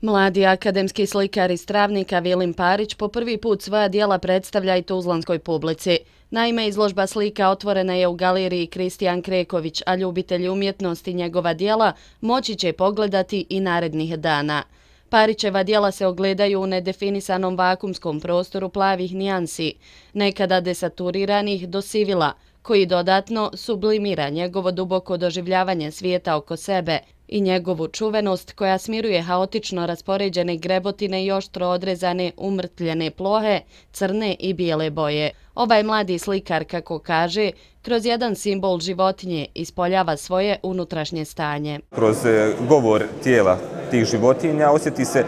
Mladi akademski slikar iz Travnika Vilim Parić po prvi put svoja dijela predstavlja i tuzlanskoj publici. Naime, izložba slika otvorena je u galeriji Kristijan Kreković, a ljubitelji umjetnosti njegova dijela moći će pogledati i narednih dana. Parićeva dijela se ogledaju u nedefinisanom vakumskom prostoru plavih nijansi, nekada desaturiranih do sivila, koji dodatno sublimira njegovo duboko doživljavanje svijeta oko sebe i njegovu čuvenost koja smiruje haotično raspoređene grebotine i oštro odrezane umrtljene plohe, crne i bijele boje. Ovaj mladi slikar, kako kaže, kroz jedan simbol životinje ispoljava svoje unutrašnje stanje. Kroz govor tijela tih životinja osjeti se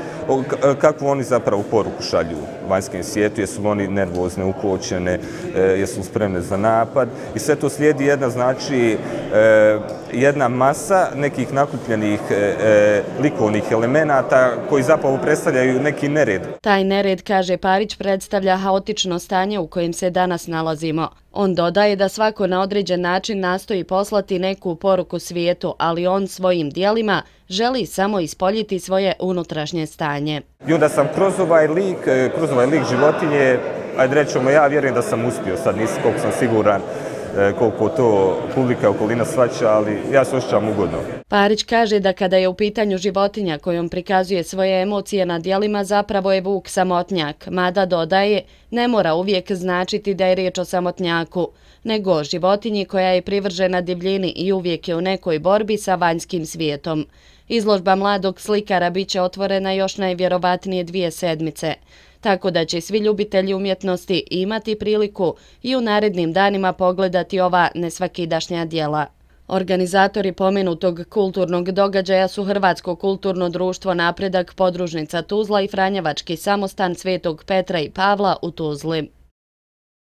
kakvu oni zapravo poruku šalju vanjskom svijetu, jesu oni nervozne, ukočene, jesu spremne za napad i sve to slijedi jedna masa nekih nakupljenih likovnih elemenata koji zapravo predstavljaju neki nered. Taj nered, kaže Parić, predstavlja haotično stanje u kojem se danas nalazimo. On dodaje da svako na određen način nastoji poslati neku poruku svijetu, ali on svojim dijelima želi samo ispoljiti svoje unutrašnje stanje. I onda sam kroz ovaj lik životinje, ajde rećemo, ja vjerujem da sam uspio, sad nisam koliko sam siguran koliko to publika okolina shvaća, ali ja se osjećam ugodno. Parić kaže da kada je u pitanju životinja kojom prikazuje svoje emocije na dijelima, zapravo je vuk samotnjak, mada dodaje ne mora uvijek značiti da je riječ o samotnjaku, nego o životinji koja je privržena divljini i uvijek je u nekoj borbi sa vanjskim svijetom. Izložba mladog slikara bit će otvorena još najvjerovatnije 2 sedmice, tako da će svi ljubitelji umjetnosti imati priliku i u narednim danima pogledati ova nesvakidašnja dijela. Organizatori pomenutog kulturnog događaja su Hrvatsko kulturno društvo Napredak, podružnica Tuzla i Franjevački samostan Svetog Petra i Pavla u Tuzli.